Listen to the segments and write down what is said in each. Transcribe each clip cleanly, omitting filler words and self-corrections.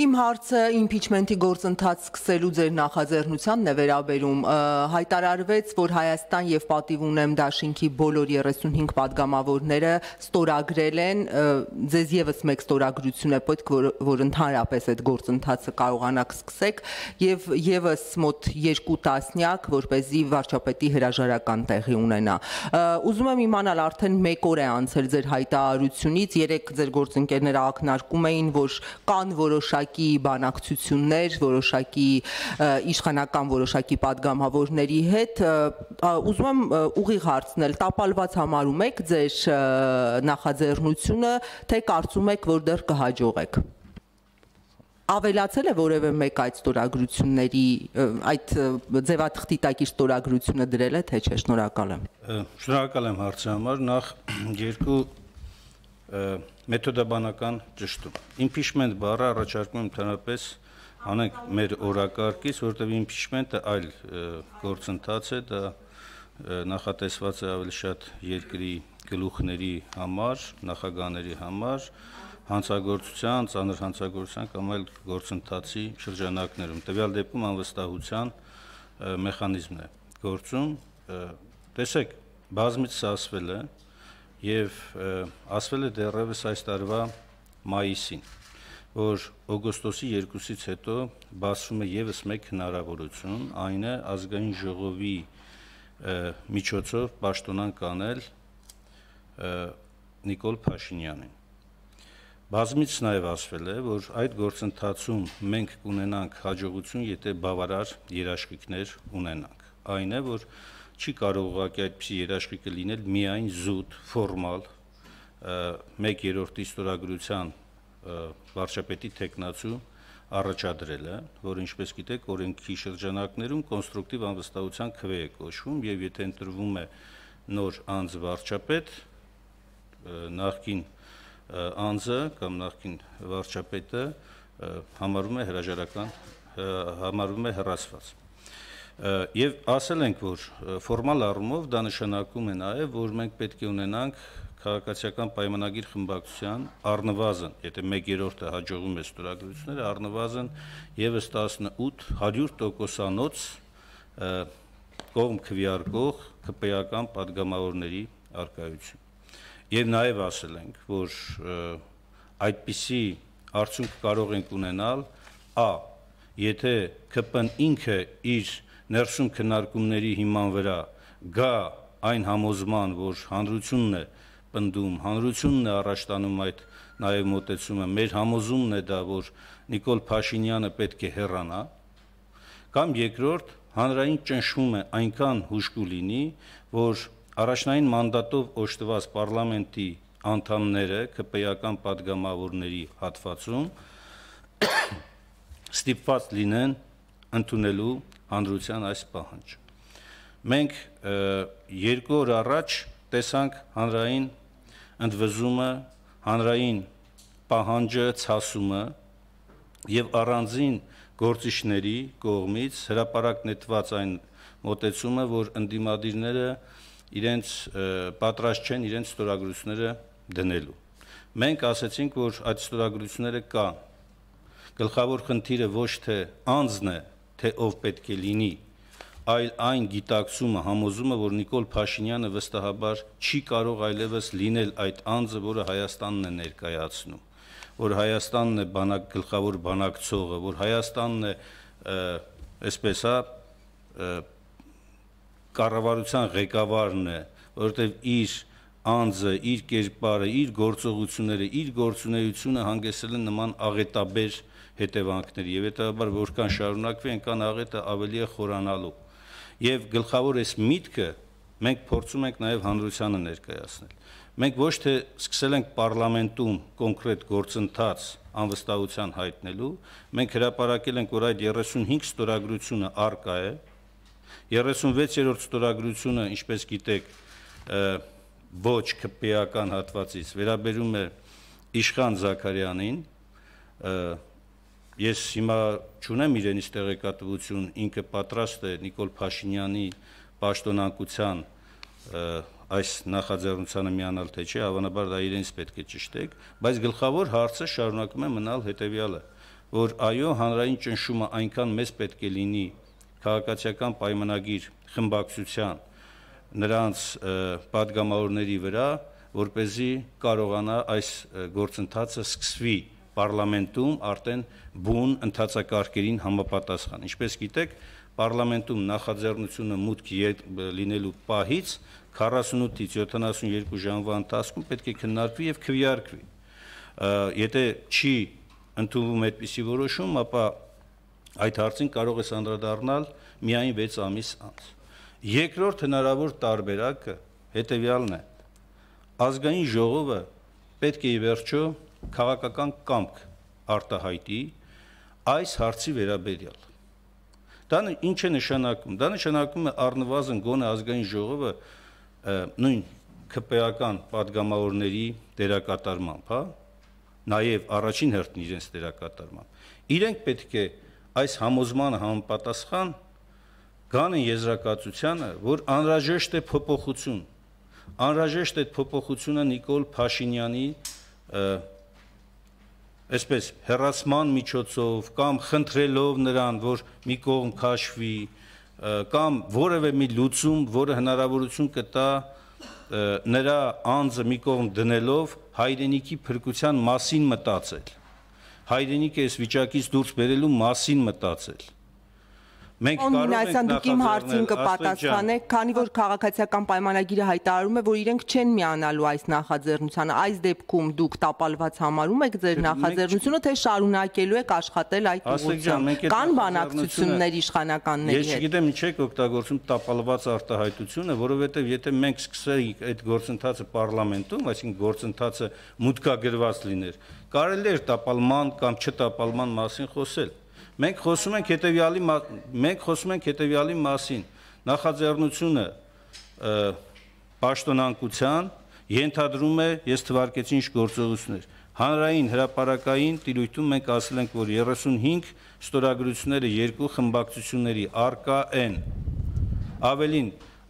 Իմ հարցը իմպիչմենթի գործընթաց սկսելու ձեր նախաձեռնությանն է վերաբերում։ Հայտարարվեց, որ Հայաստան եւ պատիվ ունեմ դաշինքի բոլոր 35 падգամավորները ստորագրել են, ձեզ եւս մեկ ստորագրություն է պետք, որ ընդհանրապես այդ գործընթացը կարողանաք սկսեք եւ եւս մոտ 2 տասնյակ, որպեսզի վարչապետի հրաժարական տեղի ունենա։ Ուզում եմ իմանալ, արդեն 1 օր է անցել ձեր հայտարարությունից, երեք ձեր գործընկերները ակնարկում էին, որ կան որոշակի բանակցություններ, որոշակի իշխանական որոշակի падգամավորների հետ, ուզում եմ ուղիղ հարցնել, տապալված համարում եք ձեր նախաձեռնությունը, թե կարծում եք, որ դեռ կհաջողեք։ Ավելացել է որևէ մեկ այդ ստորագրությունների, այդ ձևաթղթի տակ իր ստորագրությունը դրել է, թե չէ, շնորհակալ եմ։ Շնորհակալ եմ հարցի համար, նախ երկու մեթոդաբանական ճշտում։ Impeachment բառը առաջարկում ընդհանրապես անենք մեր օրակարգից, որտեղ impeachment-ը այլ գործընթաց է, դա նախատեսված է ավելի շատ երկրի գլուխների համար, նախագահների համար, հանցագործության, ծանր հանցագործության կամ այլ գործընթացի շրջանակներում։ Տվյալ դեպքում անվստահության մեխանիզմն է գործում։ Տեսեք, բազմիցս ասվել է եւ ասվել է դեռևս այս տարվա մայիսին, որ օգոստոսի 2-ից հետո բացվում է եւս մեկ հնարավորություն, այն է ազգային ժողովի միջոցով պաշտոնան կանել Նիկոլ Փաշինյանին։ Բազմիցս նաեւ ասվել է, որ այդ գործընթացում մենք կունենանք հաջողություն, եթե բավարար երաշխիքներ ունենանք։ Այն է, որ չի կարող ուղղակի այդպիսի երաշխիքը լինել միայն զուտ, ֆորմալ, 1/3 ստորագրության վարչապետի թեկնածու առաջադրելը, որը ինչպես գիտեք, օրենքի շրջանակներում կոնստրուկտիվ անվստահության քվե է կոչվում, եւ եթե ընտրվում է նոր անձ վարչապետ, նախկին անձը կամ նախկին վարչապետը համարվում է հրաժարական, համարվում է հեռացված։ Եվ ասել ենք, որ ֆորմալ առումով դա նշանակում է նաև, որ մենք պետք է ունենանք քաղաքացիական պայմանագիր խմբակցության առնվազն, եթե 1/3-ը հաջողում է ստորագրությունները, առնվազն եւս 18-100%-անոց կողմ քվեարկող ԿՊ-ական падգամավորների առկայություն։ Եվ նաև ասել ենք, որ այդպիսի արդյունք կարող ենք ունենալ եթե ԿՊ-ն ինքը իր ներսում քննարկումների հիման վրա գա այն համոզման, որ հանրությունն է պնդում, հանրությունն է առաջ տանում այդ նաև մոտեցումը, մեր համոզումն է դա, որ Նիկոլ Փաշինյանը պետք է հեռանա, կամ երկրորդ, հանրային ճնշումը այնքան հուժկու լինի, որ առաջնային մանդատով օժտված պարլամենտի անդամները, ԿՊ-ական падգամավորների հատվածում ստիպված լինեն ընդունելու հանրության այս պահանջը։ Մենք 2 օր առաջ տեսանք հանրային ընդվզումը, հանրային պահանջը, ցասումը եւ առանձին գործիչների կողմից հրապարակ նետված այն մոտեցումը, որ ընդդիմադիրները իրենց պատրաստ չեն իրենց ստորագրությունները դնելու։ Մենք ասացինք, որ այդ ստորագրությունները կան։ Գլխավոր խնդիրը ոչ թե անձն է, թե ով պետք է լինի, այլ այն գիտակցումը, համոզումը, որ Նիկոլ Փաշինյանը վստահաբար չի կարող այլևս լինել այդ անձը, որը Հայաստանն է ներկայացնում, որ Հայաստանն է գլխավոր բանակցողը, որ Հայաստանն է, այսպես կառավարության ղեկավարն է, որովհետև իր անձը, իր կերպարը, իր գործողությունները, իր գործունեությունը հանգեցրել են նման աղետաբեր հետևանքների, եւ հետաբար որքան շարունակվի, այնքան աղետը ավելի է խորանալու։ Եվ գլխավոր այս միտքը մենք փորձում ենք նաև հանրությանը ներկայացնել։ Մենք ոչ թե սկսել ենք պարլամենտում կոնկրետ գործընթաց անվստահության հայտնելու, մենք հրապարակել ենք, որ այդ 35 ստորագրությունը առկա է, 36-րդ ստորագրությունը, ինչպես գիտեք, ոչ ԿՊ-ական հատվածից վերաբերում է Իշխան Զաքարյանին, ես հիմա չունեմ իրենից տեղեկատվություն, ինքը պատրաստ է Նիկոլ Փաշինյանի պաշտոնանկության այս նախաձեռնությանը միանալ թե չէ, հավանաբար դա իրենց պետք է ճշտեք, բայց գլխավոր հարցը շարունակում է մնալ հետևյալը, որ այո, հանրային ճնշումը այնքան մեծ պետք է լինի քաղաքացիական պայմանագիր խմբակցության նրանց падգամավորների վրա, որպեսզի կարողանա այս գործընթացը սկսվի պարլամենտում արդեն բուն ընթացակարգերին համապատասխան։ Ինչպես գիտեք, պարլամենտում նախաձեռնությունը մուտք լինելու պահից 48-ից 72 ժամվա ընթացքում պետք է քննարկվի եւ քվեարկվի։ Եթե չի ընդունվում այդպիսի որոշում, ապա այդ հարցին կարող է անդրադառնալ միայն 6 ամիս անց։ Երկրորդ հնարավոր տարբերակը հետեւյալն է. ազգային ժողովը պետք է ի վերջո քաղաքական կամք արտահայտի այս հարցի վերաբերյալ։ Դա ինչ է նշանակում։ Դա նշանակում է առնվազն գոնե ազգային ժողովը նույն ԿՊ-ական падգամավորների դերակատարմամբ, հա, նաև առաջին հերթին իրենց դերակատարմամբ։ Իրենք պետք է այս համոզմանը համապատասխան գանեն եզրակացությանը, որ անհրաժեշտ է փոփոխություն։ Անհրաժեշտ է փոփոխությունը Նիկոլ Փաշինյանի այսպես հեռացման միջոցով կամ խնդրելով նրան, որ մի կողմ քաշվի, կամ որևէ մի լուծում, որը հնարավորություն կտա նրա անձը մի կողմ դնելով հայրենիքի փրկության մասին մտածել, հայրենիքը այս վիճակից դուրս բերելու մասին մտածել։ Մենք կարող ենք դուք իմ հարցին կպատասխանեք, քանի որ քաղաքացիական պայմանագիրը հայտարարում է, որ իրենք չեն միանալու այս նախաձեռնությանը, այս դեպքում դուք տապալված համարում եք ձեր նախաձեռնությունը, թե շարունակելու եք աշխատել այդ ուղղությամբ։ Կան բանակցություններ իշխանականների հետ։ Ես չգիտեմ ինչ եք օգտագործում տապալված արտահայտությունը, որովհետև եթե մենք սկսեինք այդ գործընթացը պարլամենտում, այսինքն գործընթացը մուտքագրված լիներ, կարելի էր տապալման կամ չտապալման մասին խոսել։ Մենք խոսում ենք հետևյալի մասին, նախաձեռնությունը պաշտոնանկության ենթադրում է, ես թվարկեցի ինչ գործողություններ, հանրային հրապարակային տիրույթում մենք ասել ենք, որ 35 ստորագրությունները երկու խմբակցությունների արկա են, ավելին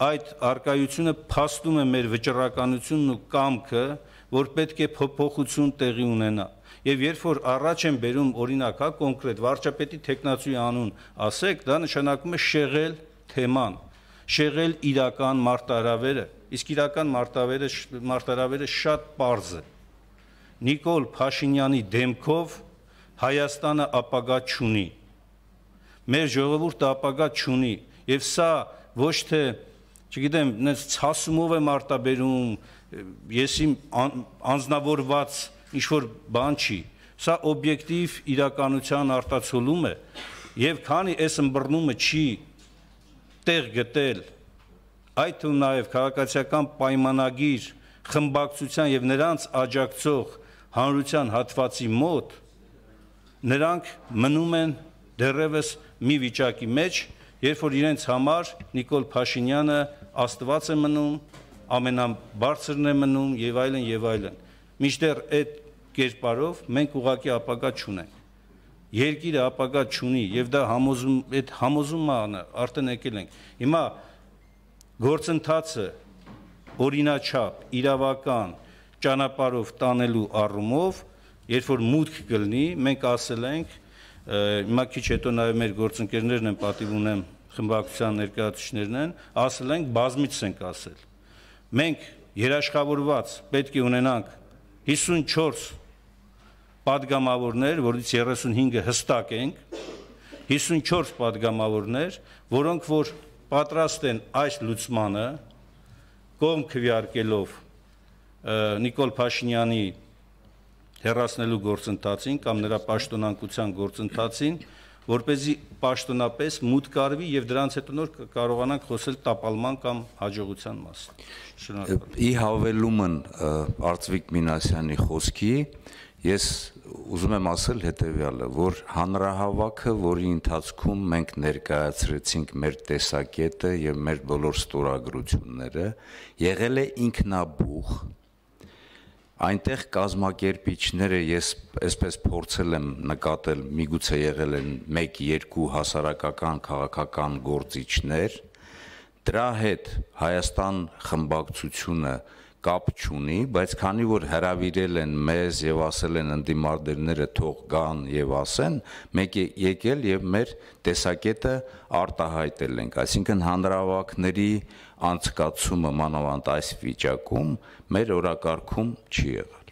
այդ արկայությունը փաստում է մեր վճռականությունն ու կամքը, որ պետք է փոփոխություն տեղի ունենա։ Եվ երբ որ առաջ են բերում օրինակ, հա, կոնկրետ վարչապետի տեխնացուի անուն ասեք, դա նշանակում է շեղել թեման, շեղել իրական մարտահրավերը, իսկ իրական մարտահրավերը շատ պարզ է։ Նիկոլ Փաշինյանի դեմքով Հայաստանը ապագա չունի։ Մեր ժողովուրդը ապագա չունի, եւ սա ոչ թե, չգիտեմ, նենց ցասումով եմ արտաբերում, ես իմ անձնավորված ինչ-որ բան չի, սա օբյեկտիվ իրականության արտացոլում է, եւ քանի այս ըմբռնումը չի տեղ գտել, այդ թվում նաեւ քաղաքացիական պայմանագիր խմբակցության եւ նրանց աջակցող հանրության հատվածի մոտ, նրանք մնում են դեռևս մի վիճակի մեջ, երբ որ իրենց համար Նիկոլ Փաշինյանը Աստված է մնում, ամենաբարձրն է մնում եւ այլն եւ այլն։ Մինչդեռ այդ կերպարով մենք ուղղակի ապագա չունենք։ Երկիրը ապագա չունի եւ դա համոզումը արդեն եկել ենք։ Հիմա գործընթացը օրինաչափ, իրավական ճանապարհով տանելու առումով, երբ որ մուտք կլինի, մենք ասել ենք, հիմա քիչ հետո նաեւ մեր գործընկերներն են, պատիվ ունեմ, խմբակցության ներկայացուցիչներն են, ասել ենք, բազմիցս ենք ասել։ Մենք երաշխավորված պետք է ունենանք 54 падգամավորներ, որից 35-ը հստակ ենք, 54 падգամավորներ, որոնք որ պատրաստ են այս լուծմանը կողմ քվեարկելով Նիկոլ Փաշինյանի հեռացնելու գործընթացին կամ նրա պաշտոնանկության գործընթացին, որպեսզի պաշտոնապես մուտք արվի եւ դրանց հետո նոր կարողանանք խոսել տապալման կամ հաջողության մասին։ Շնորհակալ։ Ի հավելումն Արծվիկ Մինասյանի խոսքի, ես ուզում եմ ասել հետևյալը, որ հանրահավաքը, որի ընթացքում մենք ներկայացրեցինք մեր տեսակետը եւ մեր բոլոր ստորագրությունները, եղել է ինքնաբուխ։ Այնտեղ կազմակերպիչները ես այսպես փորձել եմ նկատել, միգուցե եղել են 1-2 հասարակական քաղաքական գործիչներ, դրա հետ Հայաստան խմբակցությունը կապ չունի, բայց քանի որ հրավիրել են մեզ եւ ասել են ընդդիմադիրները թող գան եւ ասեն, մենք եկել եւ մեր տեսակետը արտահայտել ենք, այսինքն հանրահավաքների անցկացումը մանավանդ այս վիճակում մեր օրակարգում չի եղել։